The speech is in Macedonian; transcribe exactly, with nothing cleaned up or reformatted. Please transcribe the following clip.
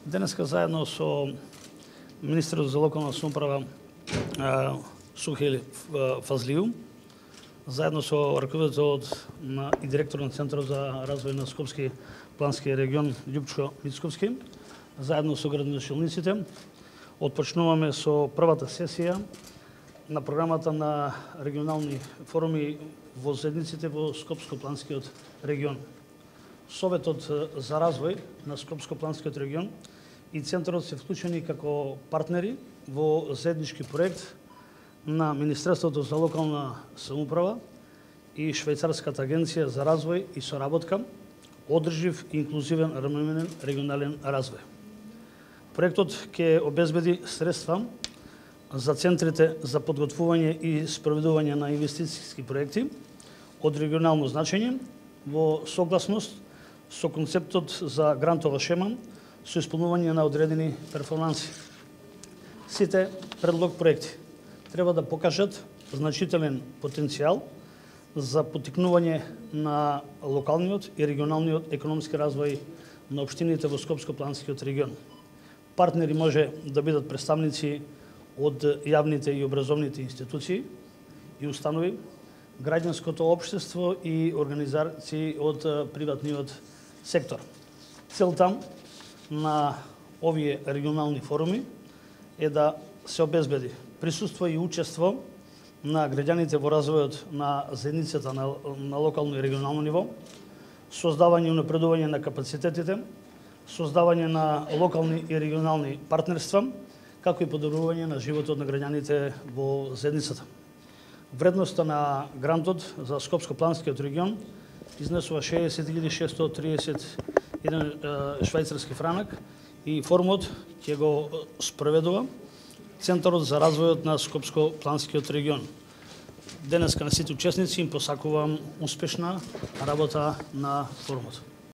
Денеска заедно со министерот за локална самоуправа Сухели Фазлију, заедно со раководителот на и директор на Центарот за развој на Скопски плански регион Љупчко Мицковски, заедно со градоначалниците, отпочнуваме со првата сесија на програмата на регионални форуми во заедниците во Скопско-планскиот регион. Советот за развој на Скопско-планскиот регион и Центарот се вклучени како партнери во заеднички проект на Министерството за локална самоуправа и Швајцарската агенција за развој и соработка, одржив и инклузивен равноменен регионален развој. Проектот ќе обезбеди средства за центрите за подготвување и спроведување на инвестицијски проекти од регионално значење во согласност со концептот за грантова шема со исполнување на одредени перформанси. Сите предлог проекти треба да покажат значителен потенцијал за поттикнување на локалниот и регионалниот економски развој на општините во Скопско-планскиот регион. Партнери може да бидат представници од јавните и образовните институции и установи, граѓанското општество и организации од приватниот сектор. Целта на овие регионални форуми е да се обезбеди присуство и учество на граѓаните во развојот на заедницата на, на локално и регионално ниво, создавање и унапредување на капацитетите, создавање на локални и регионални партнерства, како и подобрување на животот на граѓаните во заедницата. Вредноста на грантот за Скопско-планскиот регион изнесува шеесет илјади шестоста триесет и еден швајцарски франак и форумот ќе го спроведува Центарот за развојот на Скопско-планскиот регион. Денеска на сите учесници им посакувам успешна работа на форумот.